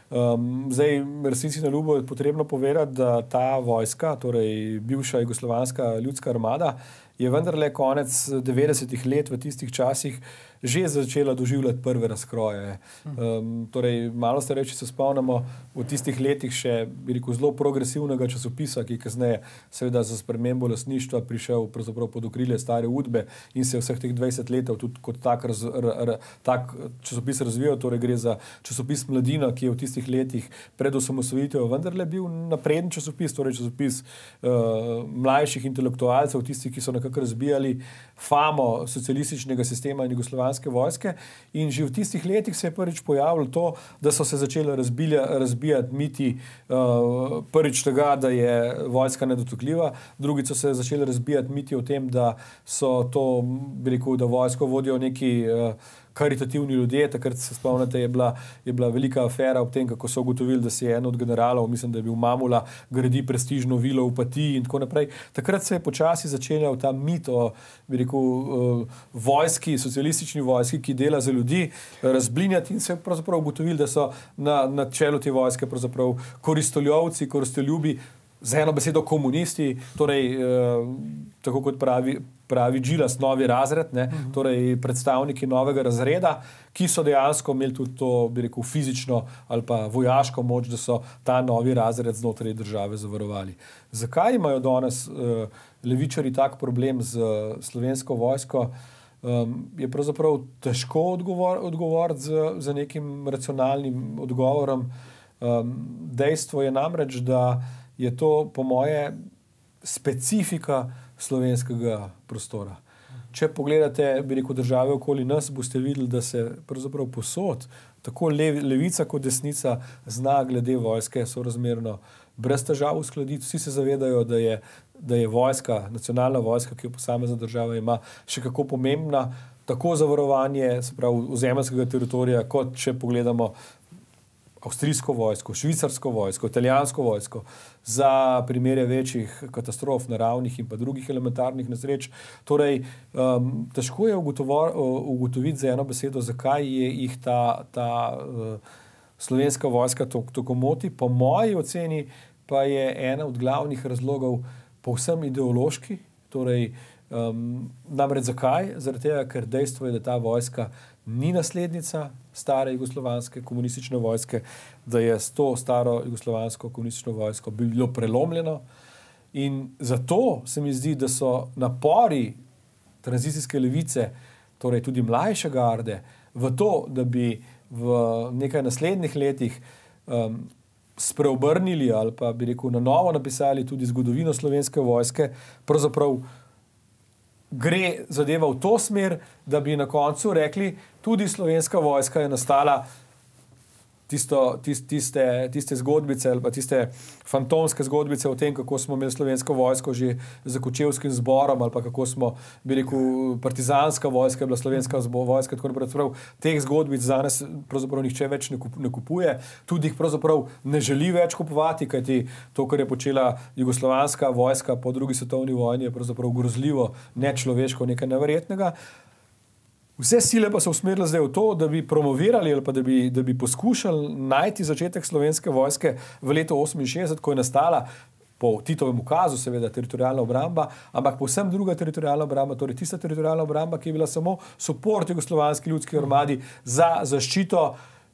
Um, zdaj, resnici na ljubo je potrebno povedati, da ta vojska, torej bivša jugoslovanska ljudska armada, je vendarle konec devetdesetih let v tistih časih že začela doživljati prve razkroje. Um, torej, malo starejši se spomnimo v tistih letih še, bi rekel, zelo progresivnega časopisa, ki je kasneje seveda za spremembo lastništva prišel pravzaprav pod okrilje Stare Udbe in se je vseh teh dvajset let tudi kot tak, raz, r, r, tak časopis razvijal. Torej, gre za časopis Mladina, ki je v tistih letih pred osamosvojitvijo vendarle bil napreden časopis, torej časopis uh, mlajših intelektualcev, tistih, ki so nekako razbijali famo socialističnega sistema in jugoslovanske vojske. In že v tistih letih se je prvič pojavilo to, da so se začele razbijati miti uh, prvič tega, da je vojska nedotakljiva, drugič so se začele razbijati miti o tem, da so to, bi rekel, da vojsko vodijo neki uh, karitativni ljudje. Takrat se spomnite, je bila, je bila velika afera ob tem, kako so ugotovili, da si je en od generalov, mislim, da je bil Mamula, gradi prestižno vilo v Opatiji in tako naprej. Takrat se je počasi začenjal ta mit o, bi rekel, uh, vojski, socialistični vojski, ki dela za ljudi, razblinjati in se je pravzaprav ugotovili, da so na, na čelu te vojske pravzaprav koristoljovci, koristoljubi, z eno besedo komunisti, torej uh, tako kot pravi pravi Džilas, novi razred, ne, uh-huh. torej predstavniki novega razreda, ki so dejansko imeli tudi to, bi rekel, fizično ali pa vojaško moč, da so ta novi razred znotraj države zavarovali. Zakaj imajo danes uh, levičari tak problem z uh, slovensko vojsko? Um, je pravzaprav težko odgovor, odgovoriti z, z nekim racionalnim odgovorom. Um, dejstvo je namreč, da je to po moje specifika slovenskega prostora. Če pogledate, bi rekel, države okoli nas, boste videli, da se pravzaprav posod, tako lev, levica kot desnica, zna glede vojske sorazmerno brez težav uskladiti. Vsi se zavedajo, da je, da je vojska, nacionalna vojska, ki jo posamezna država ima, še kako pomembna, tako za varovanje, se pravi, ozemeljskega teritorija, kot če pogledamo avstrijsko vojsko, švicarsko vojsko, italijansko vojsko, za primere večjih katastrof naravnih in pa drugih elementarnih nesreč. Torej, um, težko je ugotoviti za eno besedo, zakaj je jih ta, ta uh, slovenska vojska tako moti. Po moji oceni pa je ena od glavnih razlogov povsem ideološki. Torej, um, namreč zakaj? Zaradi tega, ker dejstvo je, da ta vojska ni naslednica stare jugoslovanske komunistične vojske, da je s to staro jugoslovansko komunistično vojsko bilo prelomljeno. In zato se mi zdi, da so napori tranzicijske levice, torej tudi mlajše garde, v to, da bi v nekaj naslednjih letih um, spreobrnili ali pa bi rekel na novo napisali tudi zgodovino slovenske vojske, pravzaprav gre zadeva v to smer, da bi na koncu rekli, tudi slovenska vojska je nastala tisto, tist, tiste, tiste zgodbice ali pa tiste fantomske zgodbice o tem, kako smo imeli slovensko vojsko že za Kočevskim zborom ali pa kako smo, bi rekel, partizanska vojska, bila slovenska vojska, tako naprej. Teh zgodbic danes pravzaprav nihče več ne, kup, ne kupuje, tudi jih pravzaprav ne želi več kupovati, kajti to, kar je počela jugoslovanska vojska po drugi svetovni vojni, je pravzaprav grozljivo, nečloveško, nekaj neverjetnega. Vse sile pa so usmerile zdaj v to, da bi promovirali ali pa da bi, da bi poskušali najti začetek slovenske vojske v letu oseminšestdeset, ko je nastala po Titovem ukazu, seveda, teritorialna obramba, ampak povsem druga teritorialna obramba, torej tista teritorialna obramba, ki je bila samo suport jugoslovanski ljudski armadi za zaščito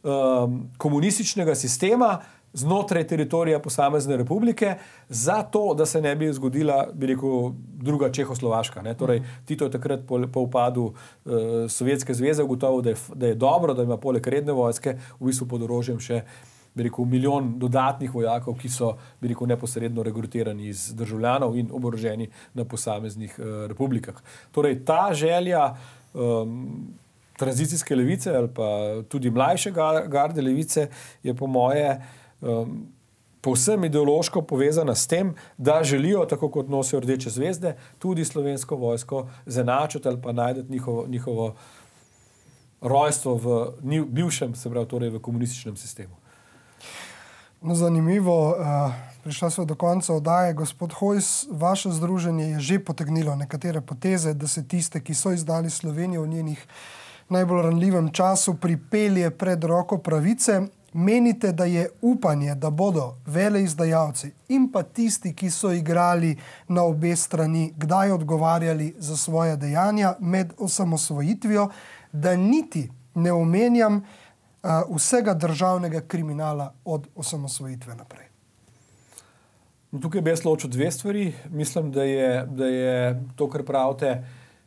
um, komunističnega sistema znotraj teritorija posamezne republike, zato, da se ne bi zgodila, bi rekel, druga Čehoslovaška. Ne? Torej, Tito je takrat po, po upadu uh, Sovjetske zveze ugotovil, da je, da je dobro, da ima poleg redne vojske v bistvu pod orožjem še, bi rekel, milijon dodatnih vojakov, ki so, bi rekel, neposredno rekrutirani iz državljanov in oboroženi na posameznih uh, republikah. Torej, ta želja um, tranzicijske levice ali pa tudi mlajše garde levice je po moje Um, povsem ideološko povezana s tem, da želijo, tako kot nosijo rdeče zvezde, tudi slovensko vojsko zanačiti ali pa najdeti njihovo, njihovo rojstvo v bivšem, se pravi, torej v komunističnem sistemu. No, zanimivo, uh, prišla smo do konca oddaje. Gospod Hojs, vaše združenje je že potegnilo nekatere poteze, da se tiste, ki so izdali Slovenijo v njenih najbolj ranljivem času, pripelje pred roko pravice. Menite, da je upanje, da bodo veleizdajalci in pa tisti, ki so igrali na obe strani, kdaj odgovarjali za svoje dejanja med osamosvojitvijo, da niti ne omenjam uh, vsega državnega kriminala od osamosvojitve naprej? Tukaj bi jaz ločil dve stvari. Mislim, da je, da je to, kar pravite,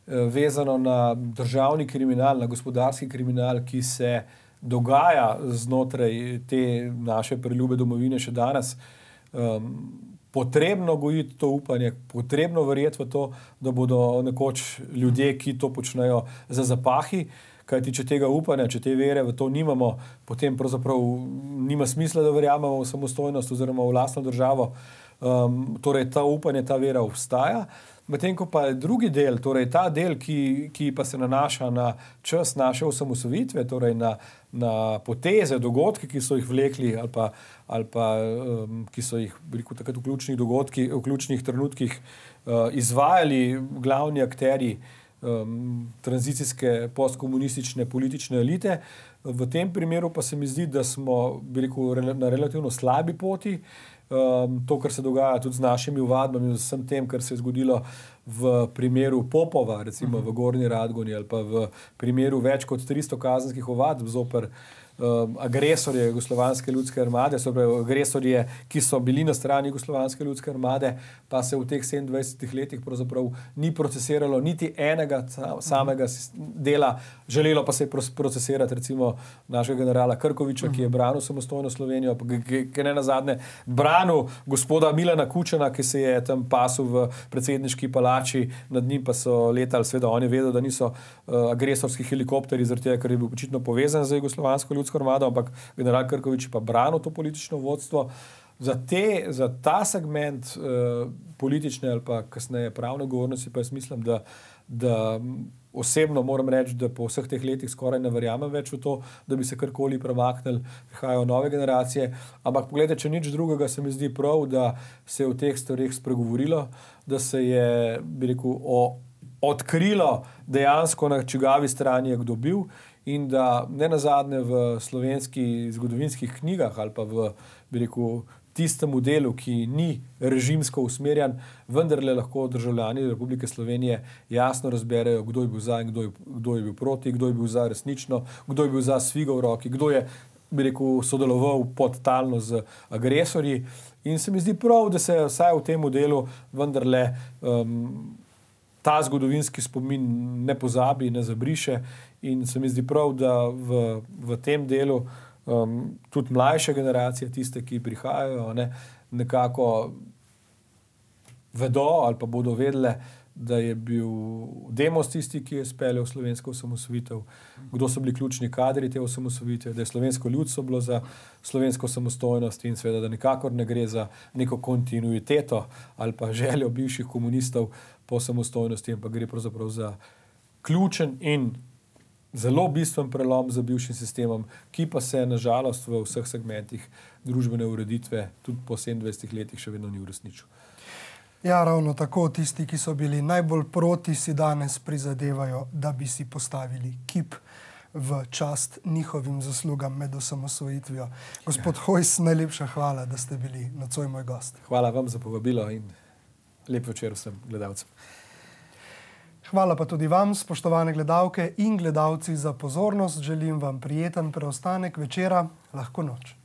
vezano na državni kriminal, na gospodarski kriminal, ki se dogaja znotraj te naše preljube domovine še danes. Um, potrebno gojiti to upanje, potrebno verjeti v to, da bodo nekoč ljudje, ki to počnejo, za zapahi, kajti če tega upanja, če te vere v to nimamo, potem pravzaprav nima smisla, da verjamemo v samostojnost oziroma v lastno državo. Um, torej ta upanje, ta vera obstaja. Medtem ko pa drugi del, torej ta del, ki, ki pa se nanaša na čas naše osamosvojitve, torej na, na poteze, dogodke, ki so jih vlekli ali pa, ali pa um, ki so jih, rekel, takrat v ključnih dogodkih, v ključnih trenutkih uh, izvajali glavni akterji um, tranzicijske postkomunistične politične elite. V tem primeru pa se mi zdi, da smo, bi rekel, na relativno slabi poti. Um, to, kar se dogaja tudi z našimi ovadbami in z vsem tem, kar se je zgodilo v primeru Popova, recimo uh -huh. v Gornji Radgoni ali pa v primeru več kot tristo kazenskih ovadb zoper um, agresorje Jugoslovanske ljudske armade, so pravi, agresorje, ki so bili na strani Jugoslovanske ljudske armade, pa se v teh sedemindvajsetih letih pravzaprav ni procesiralo niti enega samega dela, želelo pa se je procesirati recimo našega generala Krkoviča, uh -huh. ki je branil samostojno Slovenijo, ki ne nazadnje branil gospoda Milana Kučana, ki se je tam pasul v predsedniški palači, nad njim pa so letali, seveda on je vedel, da niso uh, agresorski helikopteri, zaradi tega, ker je bil očitno povezan z Jugoslovansko ljudsko armado, ampak general Krkovič pa branil to politično vodstvo. Za, te, za ta segment uh, politične ali pa kasneje pravne govornosti pa jaz mislim, da, da osebno moram reči, da po vseh teh letih skoraj ne verjamem več v to, da bi se karkoli premaknili, prihajajo nove generacije, ampak pogledajte, če nič drugega, se mi zdi prav, da se je v teh stvareh spregovorilo, da se je, bi rekel, o, odkrilo dejansko, na čigavi strani je kdo bil in da ne nazadnje v slovenskih zgodovinskih knjigah ali pa v, bi rekel, tistemu delu, ki ni režimsko usmerjan, vendarle lahko državljani Republike Slovenije jasno razberejo, kdo je bil za in kdo je, kdo je bil proti, kdo je bil za resnično, kdo je bil za s figo v roki, kdo je, bi rekel, sodeloval podtalno z agresorji. In se mi zdi prav, da se vsaj v tem delu vendarle um, ta zgodovinski spomin ne pozabi, ne zabriše. In se mi zdi prav, da v, v tem delu um, tudi mlajše generacije, tiste, ki prihajajo, ne, nekako vedo ali pa bodo vedele, da je bil Demos tisti, ki je speljal slovensko osamosvojitev, kdo so bili ključni kadri te osamosvojitve, da je slovensko ljudstvo bilo za slovensko samostojnost in seveda, da nikakor ne gre za neko kontinuiteto ali pa željo bivših komunistov po samostojnosti, ampak gre pravzaprav za ključen in zelo bistven prelom za bivšim sistemom, ki pa se nažalost v vseh segmentih družbene ureditve tudi po sedemindvajsetih letih še vedno ni uresničil. Ja, ravno tako tisti, ki so bili najbolj proti, si danes prizadevajo, da bi si postavili kip v čast njihovim zaslugam med osamosvojitvijo. Gospod ja. Hojs, najlepša hvala, da ste bili nocoj moj gost. Hvala vam za povabilo in lep večer vsem gledalcem. Hvala pa tudi vam, spoštovane gledalke in gledalci, za pozornost. Želim vam prijeten preostanek večera, lahko noč.